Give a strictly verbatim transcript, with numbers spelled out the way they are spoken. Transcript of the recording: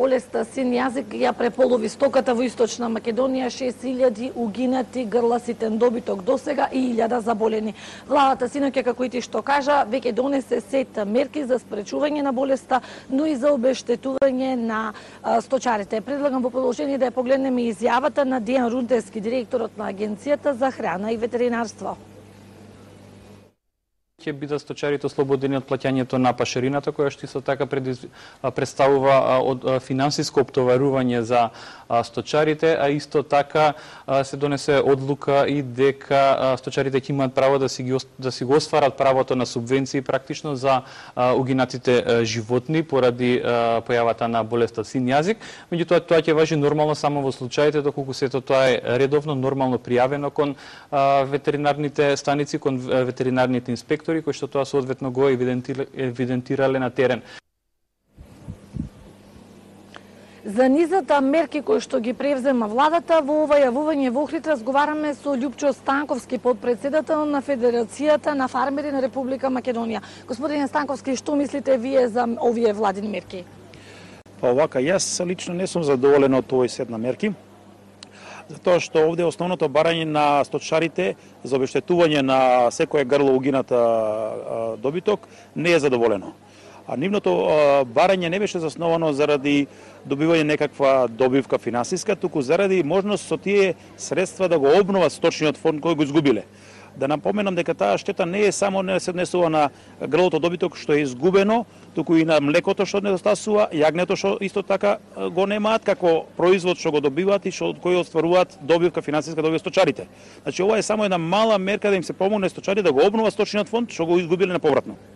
болеста син јазик ја преполови стоката во Источна Македонија, шест илјади угинати грласитен добиток досега и илјада заболени. Владата синоќа, како и ти што кажа, веќе донесе сет мерки за спречување на болеста, но и за обештетување на сточарите. Предлагам во продолжение да ја погледнеме изјавата на Дејан Рунтески, директорот на Агенцијата за храна и ветеринарство. Ќе бидат сточарите ослободени од плаќањето на пашарината, која што исто така представува од финансиско оптоварување за сточарите, а исто така се донесе одлука и дека сточарите ќе имаат право да си ги да си го остварат правото на субвенции практично за угинатите животни поради појавата на болеста син јазик. Меѓутоа тоа ќе важи нормално само во случаите доколку сето тоа е редовно нормално пријавено кон ветеринарните станици, кон ветеринарните инспектори, кои што тоа соодветно го евидентирале на терен. За низата мерки кои што ги превзема владата, во ова јавување во Охрид разговараме со Љупчо Станковски, подпредседател на Федерацијата на фармери на Република Македонија. Господине Станковски, што мислите вие за овие владини мерки? Па овака, јас лично не сум задоволен од овој сет на мерки, затоа што овде основното барање на сточарите за обештетување на секоја грло угината добиток не е задоволено. А нивното барање не беше засновано заради добивање некаква добивка финансиска, туку заради можност со тие средства да го обноват сточниот фонд кој го изгубиле. Да напоменам дека таа штета не е само не се однесува на грлото добиток што е изгубено, туку и на млекото што недостасува, јагнето што исто така го немаат како производ што го добиваат и што кој остваруваат добивка финансиска добивка сточарите. Значи ова е само една мала мерка да им се помогне сточарите да го обноват сточниот фонд што го изгубиле неповратно.